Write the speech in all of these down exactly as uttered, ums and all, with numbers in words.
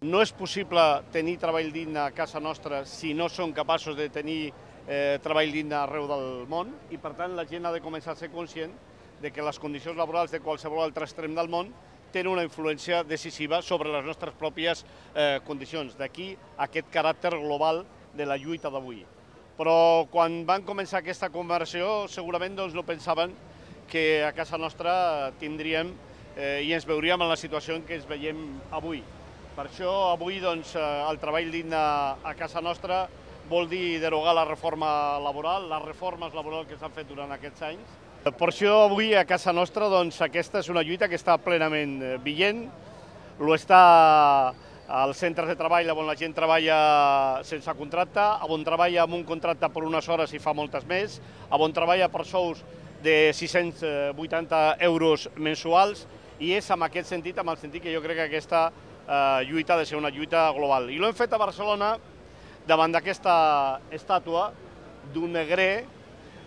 No és possible tenir treball digne a casa nostra si no som capaços de tenir eh, treball digne arreu del món i, per tant, la gent ha de començar a ser conscient de que les condicions laborals de qualsevol altre extrem del món tenen una influència decisiva sobre les nostres pròpies eh, condicions. D'aquí aquest caràcter global de la lluita d'avui. Però quan van començar aquesta conversió segurament doncs, no pensaven que a casa nostra tindríem eh, i ens veuríem en la situació en què ens veiem avui. Per això avui doncs, el treball digne a casa nostra vol dir derogar la reforma laboral, les reformes laborals que s'han fet durant aquests anys. Per això avui a casa nostra doncs, aquesta és una lluita que està plenament vigent, ho està als centres de treball on la gent treballa sense contracte, on treballa amb un contracte per unes hores i fa moltes més, on treballa per sous de sis-cents vuitanta euros mensuals, i és en aquest sentit, en el sentit que jo crec que aquesta eh, lluita ha de ser una lluita global. I l'hem fet a Barcelona davant d'aquesta estàtua d'un negrer,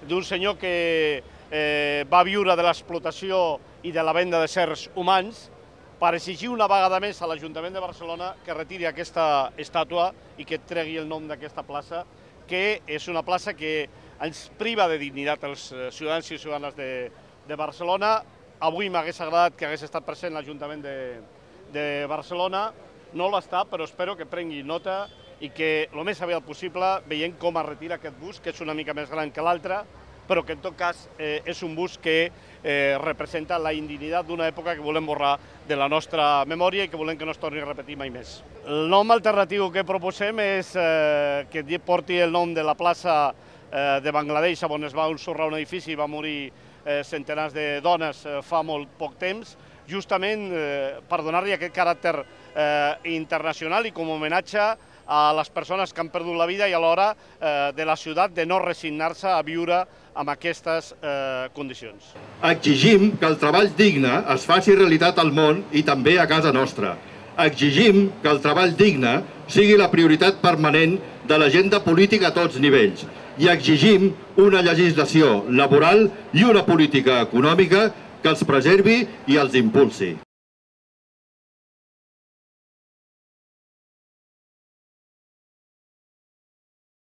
d'un senyor que eh, va viure de l'explotació i de la venda de certs humans, per exigir una vegada més a l'Ajuntament de Barcelona que retiri aquesta estàtua i que tregui el nom d'aquesta plaça, que és una plaça que ens priva de dignitat als ciutadans i ciutadanes de, de Barcelona. Avui m'hagués agradat que hagués estat present l'Ajuntament de, de Barcelona, no l'està, però espero que prengui nota i que el més aviat possible veiem com es retira aquest bust, que és una mica més gran que l'altre, però que en tot cas eh, és un bust que eh, representa la indignitat d'una època que volem borrar de la nostra memòria i que volem que no es torni a repetir mai més. El nom alternatiu que proposem és eh, que porti el nom de la plaça eh, de Bangladesh, on es va ensorrar un edifici i va morir eh, centenars de dones eh, fa molt poc temps, justament eh, per donar-li aquest caràcter eh, internacional i com a homenatge a les persones que han perdut la vida i alhora eh, de la ciutat de no resignar-se a viure amb aquestes eh, condicions. Exigim que el treball digne es faci realitat al món i també a casa nostra. Exigim que el treball digne sigui la prioritat permanent de l'agenda política a tots nivells i exigim una legislació laboral i una política econòmica que els preservi i els impulsi.